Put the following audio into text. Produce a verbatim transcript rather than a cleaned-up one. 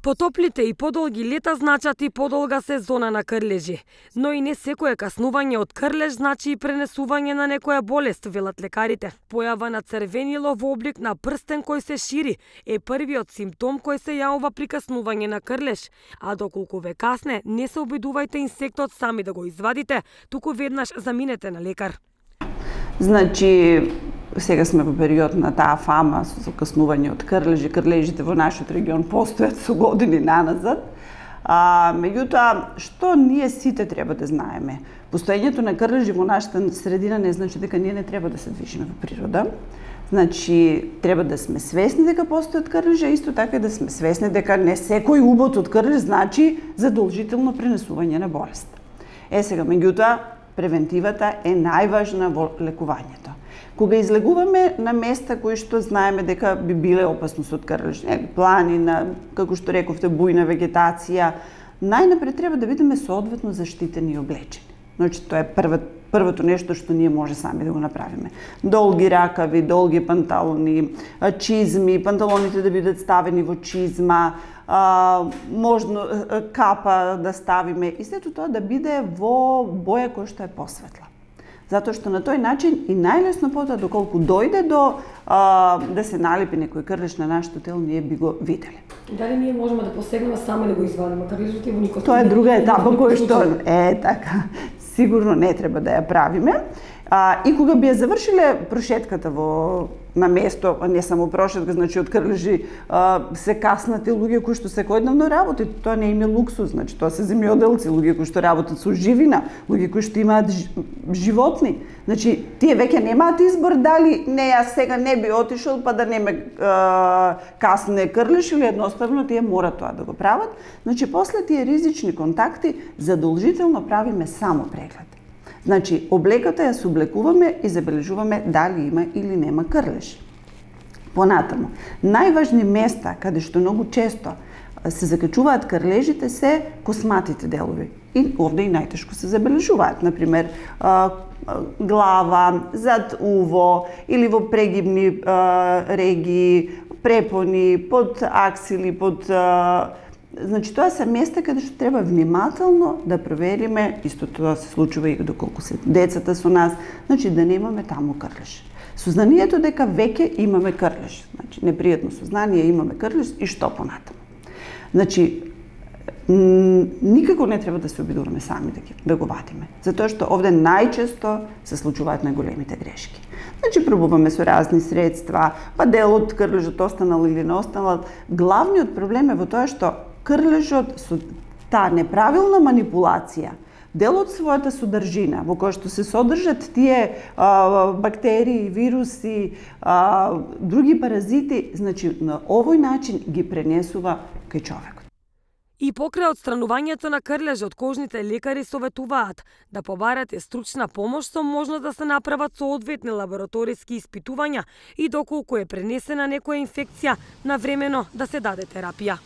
Потоплите и подолги лета значат и подолга сезона на крлежи, но и не секое каснување од крлеж значи и пренесување на некоја болест, велат лекарите. Појава на црвенило во облик на прстен кој се шири е првиот симптом кој се јавува при каснување на крлеж, а доколку ве касне, не се обидувајте инсектот сами да го извадите, туку веднаш заминете на лекар. Значи, сега сме во период на таа фама со каснување од крлежи. Крлежите во нашиот регион постојат со години наназад. А, меѓутоа, што ние сите треба да знаеме? Постоењето на крлежи во нашата средина не значи дека ние не треба да се движиме во природа. Значи, треба да сме свесни дека постојат крлежи, исто така и да сме свесни дека не секој убот од крлеж значи задолжително пренесување на болест. Е сега, меѓутоа, превентивата е најважна во лекувањето. Кога излегуваме на места кои што знаеме дека би биле опасност од крлеж, планина, како што рековте, бујна вегетација, најнапред треба да бидеме соодветно заштитени и облечени. Значи, тоа е прво, првото нешто што ние може сами да го направиме. Долги ракави, долги панталони, чизми, панталоните да бидат ставени во чизма, а, можно капа да ставиме и сето тоа да биде во боја која што е посветла. Затоа што на тој начин и најлесно потоа доколку дојде до а, да се налепи некој крлеж на нашето тело, ние би го виделе. Дали ние можеме да посегнеме сами да го извадиме крлежот и во никој? Тоа е друга етапа која што е така. Сигурно не треба да ја правиме. А, и кога би ја завршиле прошетката во на место, а не само прошетка, значи од крлежи а, се каснати луѓе кои што секојдневно работат, тоа не им е луксус, значи тоа се земјоделци, луѓе кои што работат со живина, луѓе кои што имаат животни. Значи тие веќе немаат избор дали не јас сега не би отишол па да не ме а, касне крлеж или едноставно тие мора тоа да го прават. Значи после тие ризични контакти задолжително правиме само преглед. Значи, облеката ја се облекуваме и забележуваме дали има или нема крлеж. Понатаму, најважни места каде што многу често се закачуваат крлежите се косматите делови. И овде и најтешко се забележуваат, например, глава, зад уво или во прегибни регии, препони, под аксили, под Значи, тоа се места каде што треба внимателно да провериме, исто тоа се случува и доколку се децата со нас, значи да немаме таму крлеж. Сознанието дека веќе имаме крлеж, значи непријатно сознание, имаме крлеж и што понатаму. Значи, никако не треба да се обидуваме сами да, да го вадиме, затоа што овде најчесто се случуваат најголемите грешки. Значи, пробуваме со разни средства, па дел од крлежот останал или не останал. Главниот проблем е во тоа што крлежот со таа неправилна манипулација, дел од својата содржина, во која што се содржат тие а, бактерии, вируси, а, други паразити, значи на овој начин ги пренесува кај човекот. И покрај отстранувањето на крлежот, кожните лекари советуваат да побарате стручна помош со можност да се направат соодветни лабораториски испитувања и доколку е пренесена некоја инфекција, навремено да се даде терапија.